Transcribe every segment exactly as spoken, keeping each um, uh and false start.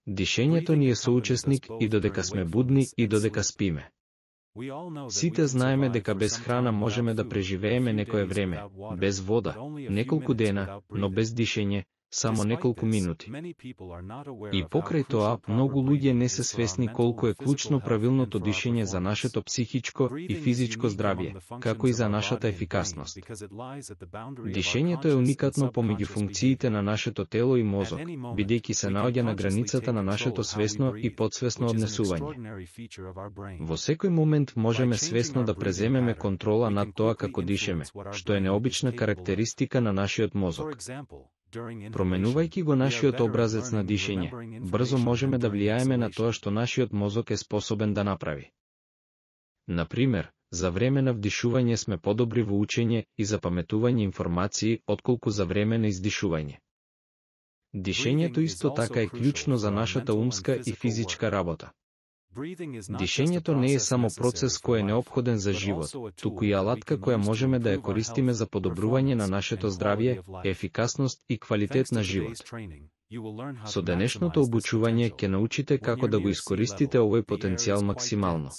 Дишењето ни е соучесник и додека сме будни и додека спиме. Сите знаеме дека без храна можеме да преживееме некое време, без вода, неколку дена, но без дишење, само неколку минути. И покрај тоа, многу луѓе не се свесни колку е клучно правилното дишење за нашето психичко и физичко здравје, како и за нашата ефикасност. Дишењето е уникатно помеѓу функциите на нашето тело и мозок, бидејќи се наоѓа на границата на нашето свесно и подсвесно однесување. Во секој момент можеме свесно да преземеме контрола над тоа како дишеме, што е необична карактеристика на нашиот мозок. Променувајќи го нашиот образец на дишење, брзо можеме да влијаеме на тоа што нашиот мозок е способен да направи. Например, за време на вдишување сме подобри во учење и запаметување информации, отколку за време на издишување. Дишењето исто така е клучно за нашата умска и физичка работа. Дишењето не е само процес кој е неопходен за живот, туку и алатка која можеме да ја користиме за подобрување на нашето здравје, ефикасност и квалитет на живот. Со денешното обучување ќе научите како да го искористите овој потенцијал максимално.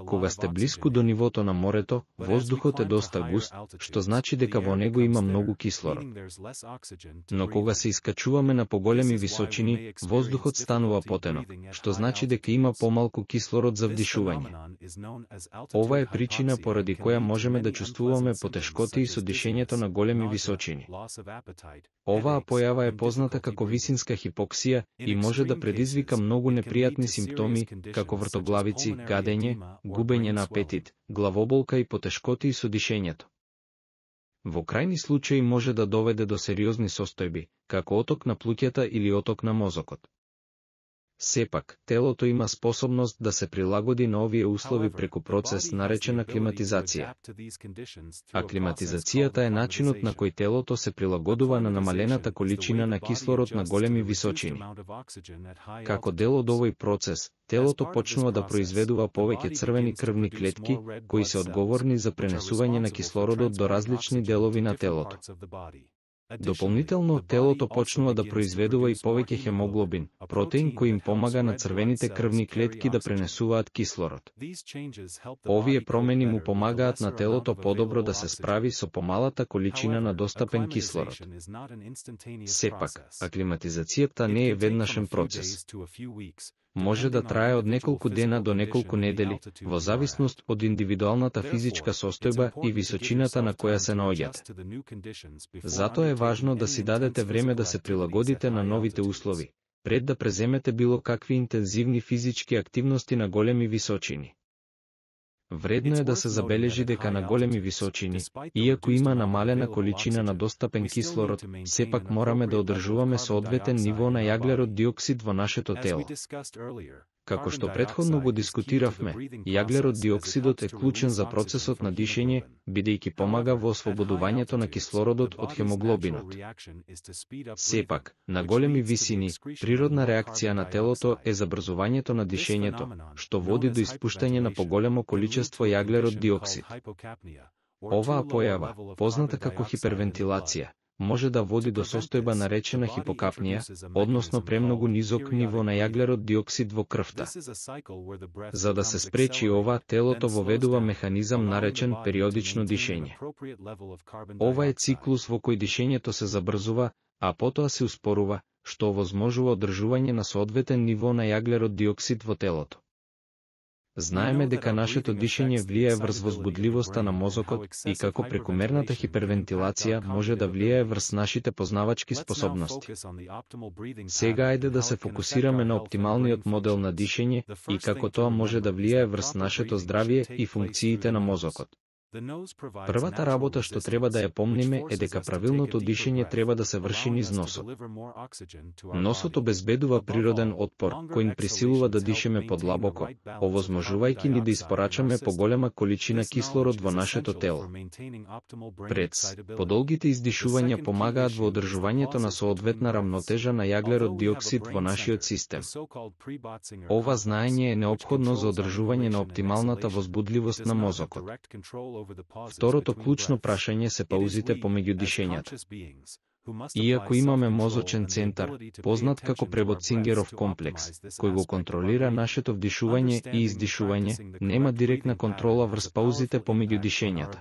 Кога сте блиску до нивото на морето, воздухот е доста густ, што значи дека во него има многу кислород. Но кога се искачуваме на поголеми височини, воздухот станува потенок, што значи дека има помалку кислород за вдишување. Ова е причина поради која можеме да чувствуваме потешкоти со дишењето на големи височини. Оваа појава е позната како висинска хипоксија и може да предизвика многу непријатни симптоми, како вртоглавици, гадење, губење на апетит, главоболка и потешкоти со дишењето. Во крајни случаи може да доведе до сериозни состојби, како оток на плуќата или оток на мозокот. Сепак, телото има способност да се прилагоди на овие услови преку процес наречен аклиматизација. Аклиматизацијата е начинот на кој телото се прилагодува на намалената количина на кислород на големи височини. Како дел од овој процес, телото почнува да произведува повеќе црвени крвни клетки, кои се одговорни за пренесување на кислородот до различни делови на телото. Дополнително, телото почнува да произведува и повеќе хемоглобин, протеин кој им помага на црвените крвни клетки да пренесуваат кислород. Овие промени му помагаат на телото подобро да се справи со помалата количина на достапен кислород. Сепак, аклиматизацијата не е веднашен процес. Може да трае од неколку дена до неколку недели, во зависност од индивидуалната физичка состојба и височината на која се наоѓате. Затоа е важно да си дадете време да се прилагодите на новите услови, пред да преземете било какви интензивни физички активности на големи височини. Вредно е да се забележи дека на големи височини, иако има намалена количина на достапен кислород, сепак мораме да одржуваме соодветен ниво на јаглерод диоксид во нашето тело. Како што претходно го дискутиравме, јаглерод диоксидот е клучен за процесот на дишење, бидејќи помага во ослободувањето на кислородот од хемоглобинот. Сепак, на големи висини, природна реакција на телото е забрзувањето на дишењето, што води до испуштање на поголемо количество јаглерод диоксид. Оваа појава, позната како хипервентилација, може да води до состојба наречена хипокапнија, односно премногу низок ниво на јаглерод диоксид во крвта. За да се спречи ова, телото воведува механизам наречен периодично дишење. Ова е циклус во кој дишењето се забрзува, а потоа се успорува, што овозможува одржување на соодветен ниво на јаглерод диоксид во телото. Знаеме дека нашето дишење влијае врз возбудливоста на мозокот и како прекумерната хипервентилација може да влијае врз нашите познавачки способности. Сега ајде да се фокусираме на оптималниот модел на дишење и како тоа може да влијае врз нашето здравје и функциите на мозокот. Првата работа што треба да ја помниме е дека правилното дишење треба да се врши низ носот. Носот обезбедува природен отпор, кој ни присилува да дишеме подлабоко, овозможувајќи ни да испорачаме поголема количина кислород во нашето тело. Прец, подолгите издишувања помагаат во одржувањето на соодветна рамнотежа на јаглерод диоксид во нашиот систем. Ова знаење е неопходно за одржување на оптималната возбудливост на мозокот. Второто клучно прашање се паузите помеѓу дишењата. Иако имаме мозочен центар, познат како Пребоцингеров комплекс, кој го контролира нашето вдишување и издишување, нема директна контрола врз паузите помеѓу дишењата.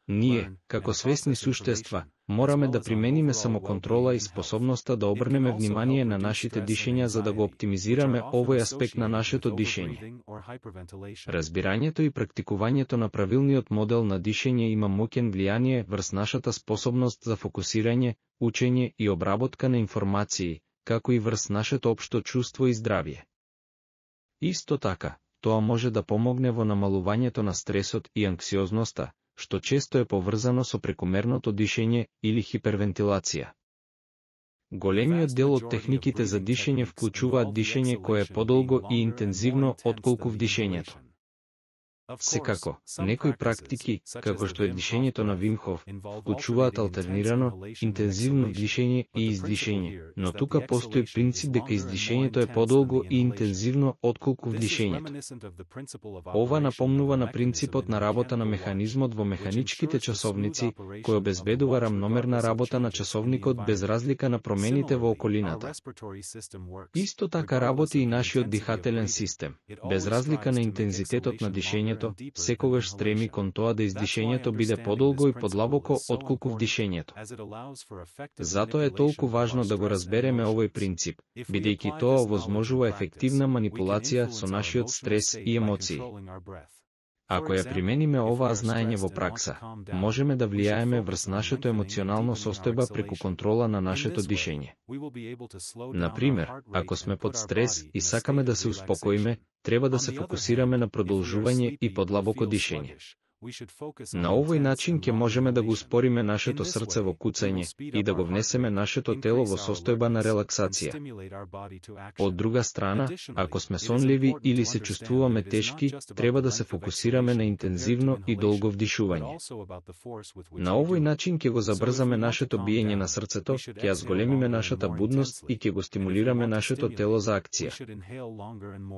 Ние, како свесни суштества, мораме да примениме самоконтрола и способноста да обрнеме внимание на нашите дишења за да го оптимизираме овој аспект на нашето дишење. Разбирањето и практикувањето на правилниот модел на дишење има моќен влијание врз нашата способност за фокусирање, учење и обработка на информации, како и врз нашето општо чувство и здравје. Исто така, тоа може да помогне во намалувањето на стресот и анксиозноста, што често е поврзано со прекомерното дишење или хипервентилација. Големиот дел од техниките за дишење вклучуваат дишење кое е подолго и интензивно отколку вдишењето. Секако, некои практики, како што е дишењето на Вим Хоф, вклучуваат алтернирано, интензивно дишење и издишење, но тука постои принцип дека издишењето е подолго и интензивно отколку вдишењето. Ова напомнува на принципот на работа на механизмот во механичките часовници, кој обезбедува рамномерна работа на часовникот без разлика на промените во околината. Исто така работи и нашиот дихателен систем, без разлика на интензитетот на дишењето, секогаш стреми кон тоа да издишењето биде подолго и подлабоко отколку вдишењето. Затоа е толку важно да го разбереме овој принцип, бидејќи тоа овозможува ефективна манипулација со нашиот стрес и емоции. Ако ја примениме оваа знаење во пракса, можеме да влијаеме врз нашето емоционално состојба преку контрола на нашето дишење. Например, ако сме под стрес и сакаме да се успокоиме, треба да се фокусираме на продолжување и подлабоко дишење. На овој начин ќе можеме да го успориме нашето срце во куцање и да го внесеме нашето тело во состојба на релаксација. Од друга страна, ако сме сонливи или се чувствуваме тешки, треба да се фокусираме на интензивно и долго вдишување. На овој начин ќе го забрзаме нашето биење на срцето, ќе ја зголемиме нашата будност и ќе го стимулираме нашето тело за акција.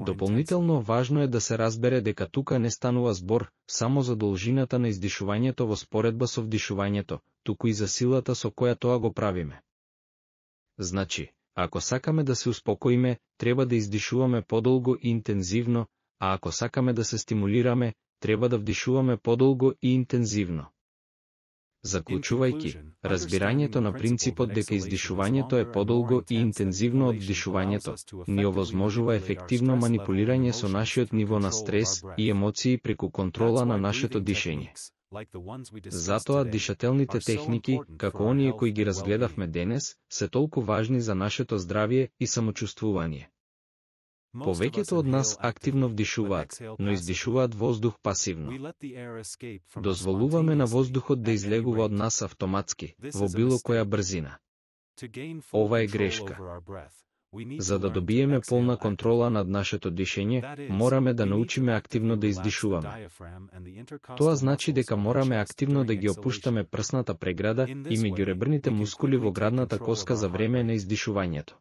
Дополнително важно е да се разбере дека тука не станува збор само за должината на издишувањето во споредба со вдишувањето, туку и за силата со која тоа го правиме. Значи, ако сакаме да се успокоиме, треба да издишуваме подолго и интензивно, а ако сакаме да се стимулираме, треба да вдишуваме подолго и интензивно. Заклучувајќи, разбирањето на принципот дека издишувањето е подолго и интензивно од вдишувањето, ни овозможува ефективно манипулирање со нашиот ниво на стрес и емоции преку контрола на нашето дишење. Затоа дишателните техники, како оние кои ги разгледавме денес, се толку важни за нашето здравје и самочувствување. Повеќето од нас активно вдишуваат, но издишуваат воздух пасивно. Дозволуваме на воздухот да излегува од нас автоматски, во било која брзина. Ова е грешка. За да добиеме полна контрола над нашето дишење, мораме да научиме активно да издишуваме. Тоа значи дека мораме активно да ги опуштаме прсната преграда и меѓуребрните мускули во градната коска за време на издишувањето.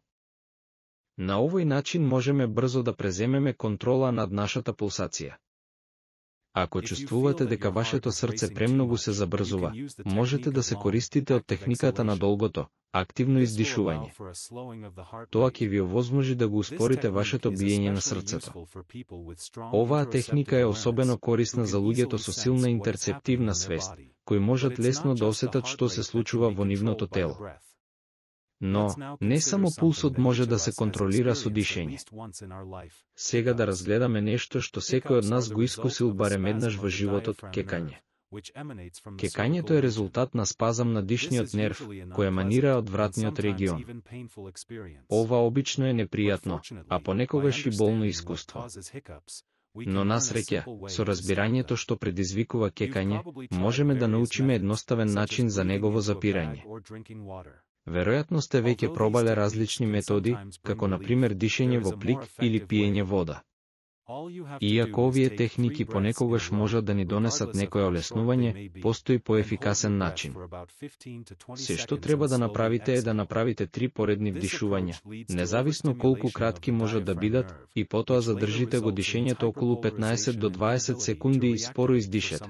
На овој начин можеме брзо да преземеме контрола над нашата пулсација. Ако чувствувате дека вашето срце премногу се забрзува, можете да се користите од техниката на долгото, активно издишување. Тоа ќе ви овозможи да го успорите вашето биење на срцето. Оваа техника е особено корисна за луѓето со силна интерцептивна свест, кои можат лесно да осетат што се случува во нивното тело. Но, не само пулсот може да се контролира со дишење. Сега да разгледаме нешто што секој од нас го искусил барем еднаш во животот, кекање. Кекањето е резултат на спазам на дишниот нерв, кој еманира од вратниот регион. Ова обично е непријатно, а понекогаш и болно искуство. Но на среќа, со разбирањето што предизвикува кекање, можеме да научиме едноставен начин за негово запирање. Веројатно сте веќе пробале различни методи, како на пример дишење во плик или пиење вода. Иако овие техники понекогаш можат да ни донесат некоја олеснување, постои поефикасен начин. Се што треба да направите е да направите три поредни вдишувања, независно колку кратки можат да бидат, и потоа задржите го дишењето околу петнаесет до дваесет секунди и споро издишете.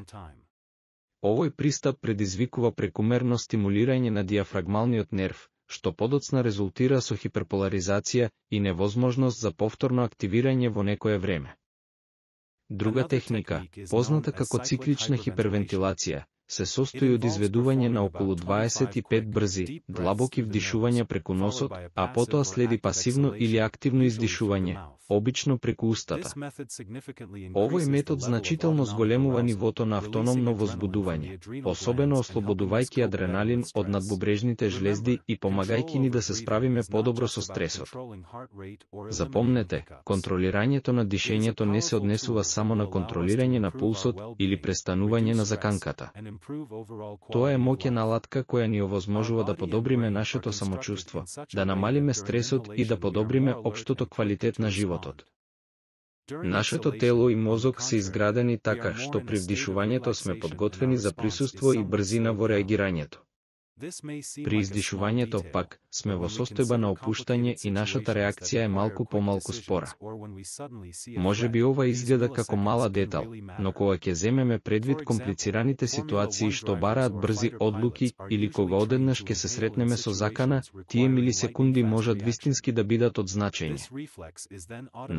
Овој пристап предизвикува прекумерно стимулирање на диафрагмалниот нерв, што подоцна резултира со хиперполаризација и невозможност за повторно активирање во некое време. Друга техника, позната како циклична хипервентилација, се состои од изведување на околу дваесет и пет брзи, длабоки вдишувања преку носот, а потоа следи пасивно или активно издишување, обично преку устата. Овој метод значително зголемува нивото на автономно возбудување, особено ослободувајќи адреналин од надбубрежните жлезди и помагајќи ни да се справиме подобро со стресот. Запомнете, контролирањето на дишењето не се однесува само на контролирање на пулсот или престанување на заканката. Тоа е моќна алатка која ни овозможува да подобриме нашето самочувство, да намалиме стресот и да подобриме општото квалитет на животот. Нашето тело и мозок се изградени така што при вдишувањето сме подготвени за присуство и брзина во реагирањето. При издишувањето пак сме во состојба на опуштање и нашата реакција е малку помалку спора. Може би ова изгледа како мала детал, но кога ќе земеме предвид комплицираните ситуации што бараат брзи одлуки или кога одеднаш ќе се сретнеме со закана, тие милисекунди можат вистински да бидат од значење.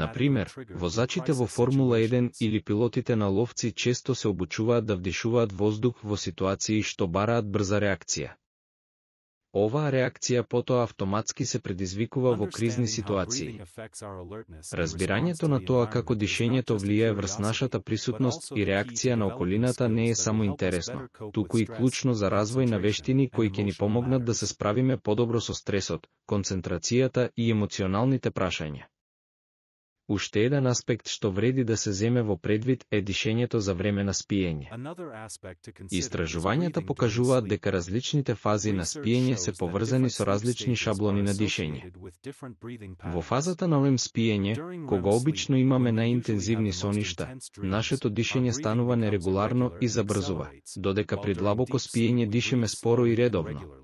Например, возачите во Формула еден или пилотите на ловци често се обучуваат да вдишуваат воздух во ситуации што бараат брза реакција. Оваа реакција потоа автоматски се предизвикува во кризни ситуации. Разбирањето на тоа како дишењето влијае врз нашата присутност и реакција на околината не е само интересно, туку и клучно за развој на вештини кои ќе ни помогнат да се справиме подобро со стресот, концентрацијата и емоционалните прашања. Уште еден аспект што вреди да се земе во предвид е дишењето за време на спиење. Истражувањата покажуваат дека различните фази на спиење се поврзани со различни шаблони на дишење. Во фазата на рем спиење, кога обично имаме најинтензивни соништа, нашето дишење станува нерегуларно и забрзува, додека при длабоко спиење дишеме споро и редовно.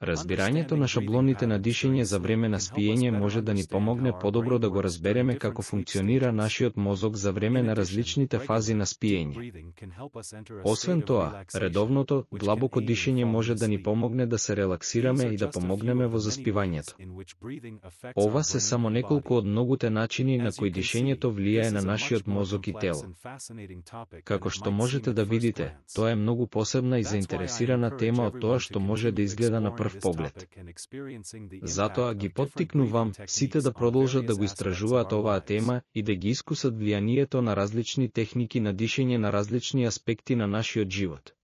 Разбирањето на шаблоните на дишење за време на спиење може да ни помогне подобро да го разбереме како функционира нашиот мозок за време на различните фази на спиење. Освен тоа, редовното, длабоко дишење може да ни помогне да се релаксираме и да помогнеме во заспивањето. Ова се само неколку од многуте начини на кои дишењето влијае на нашиот мозок и тело. Како што можете да видите, тоа е многу посебна и заинтересирана тема од тоа што може да изгледа на прв поглед. Затоа ги поттикнувам сите да продолжат да го истражуваат оваа тема и да ги искусат влијанието на различни техники на дишење на различни аспекти на нашиот живот.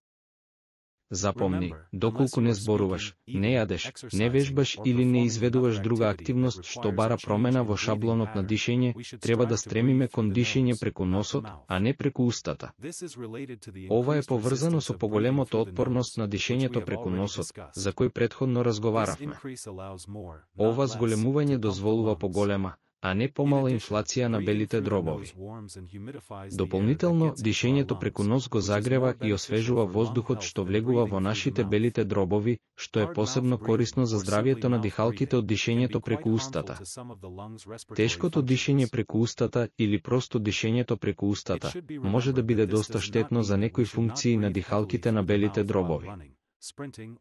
Запомни, доколку не зборуваш, не јадеш, не вежбаш или не изведуваш друга активност што бара промена во шаблонот на дишење, треба да стремиме кон дишење преку носот, а не преку устата. Ова е поврзано со поголемото отпорност на дишењето преку носот, за кој претходно разговаравме. Ова зголемување дозволува поголема, а не помала инфлација на белите дробови. Дополнително, дишењето преку нос го загрева и освежува воздухот што влегува во нашите белите дробови, што е посебно корисно за здравјето на дихалките од дишењето преку устата. Тешкото дишење преку устата или просто дишењето преку устата може да биде доста штетно за некои функции на дихалките на белите дробови.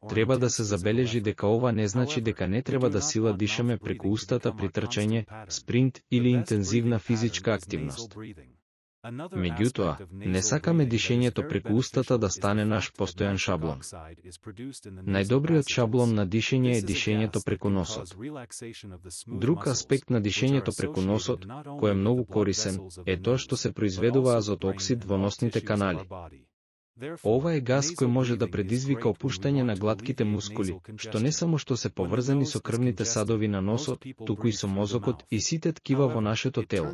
Треба да се забележи дека ова не значи дека не треба да сила дишаме преку устата при трчање, спринт или интензивна физичка активност. Меѓутоа, не сакаме дишењето преку устата да стане наш постојан шаблон. Најдобриот шаблон на дишење е дишењето преку носот. Друг аспект на дишењето преку носот, кој е многу корисен, е тоа што се произведува азот оксид во носните канали. Ова е газ кој може да предизвика опуштање на глатките мускули, што не само што се поврзани со крвните садови на носот, туку и со мозокот и сите ткива во нашето тело.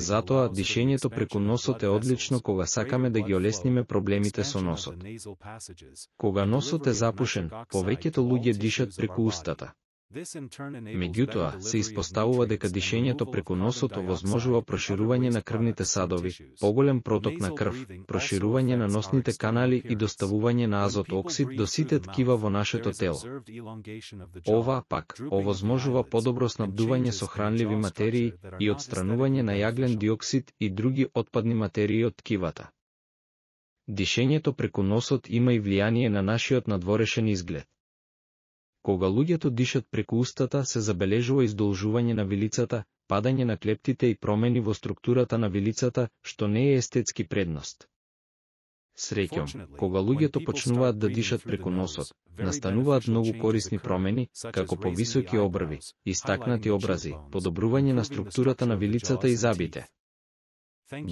Затоа, дишењето преку носот е одлично кога сакаме да ги олесниме проблемите со носот. Кога носот е запушен, повеќето луѓе дишат преку устата. Меѓутоа, се испоставува дека дишењето преку носот овозможува проширување на крвните садови, поголем проток на крв, проширување на носните канали и доставување на азот оксид до сите ткива во нашето тело. Ова, пак, овозможува подобро снабдување со хранливи материи и отстранување на јаглен диоксид и други отпадни материи од ткивата. Дишењето преку носот има и влијание на нашиот надворешен изглед. Кога луѓето дишат преку устата, се забележува издолжување на вилицата, падање на клептите и промени во структурата на вилицата, што не е естетски предност. Среќом, кога луѓето почнуваат да дишат преку носот, настануваат многу корисни промени, како повисоки обрви, истакнати образи, подобрување на структурата на вилицата и забите.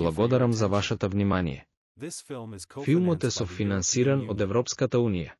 Благодарам за вашата внимание. Филмот е софинансиран од Европската унија.